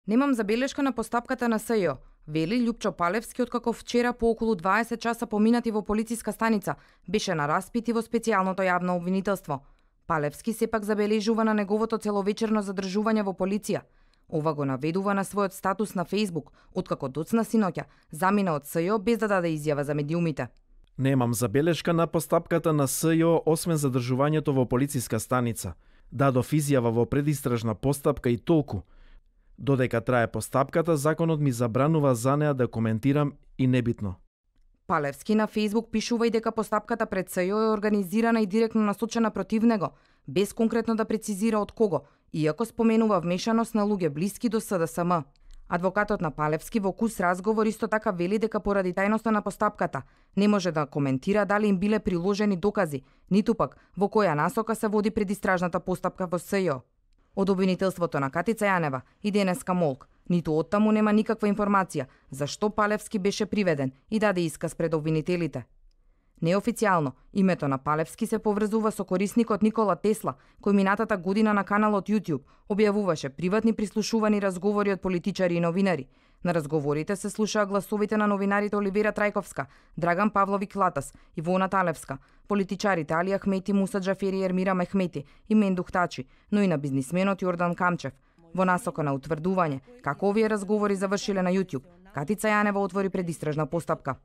Немам забелешка на постапката на СЈО, вели Љупчо Палевски, откако вчера по околу 20 часа поминати во полициска станица беше на распит и во специјалното јавно обвинителство. Палевски сепак забележува на неговото целовечерно задржување во полиција. Ова го наведува на својот статус на Facebook, откако доцна синоќа замина од СЈО без да даде изјава за медиумите. Немам забелешка на постапката на СЈО освен задржувањето во полициска станица. Дадов изјава во предистражна постапка и толку. Додека трае постапката, законот ми забранува за неа да коментирам и небитно. Палевски на Facebook пишува и дека постапката пред СЈО е организирана и директно насочена против него, без конкретно да прецизира од кого, иако споменува вмешаност на луѓе блиски до СДСМ. Адвокатот на Палевски во кус разговор исто така вели дека поради тајноста на постапката не може да коментира дали им биле приложени докази, ниту пак во која насока се води предистражната постапка во СЈО. Од обвинителството на Катица Јанева и денеска молк, ниту оттаму нема никаква информација зашто Палевски беше приведен и даде исказ пред обвинителите. Неофицијално, името на Палевски се поврзува со корисникот Никола Тесла, кој минатата година на каналот YouTube објавуваше приватни прислушувани разговори од политичари и новинари. На разговорите се слушаа гласовите на новинарите Оливера Трајковска, Драган Павловик Латас, Ивона Талевска, политичарите Али Ахмети, Муса Џафери, Ермира Мехмети и Мендух Тачи, но и на бизнисменот Јордан Камчев. Во насока на утврдување како овие разговори завршиле на YouTube, Катица Јанева отвори предистражна постапка.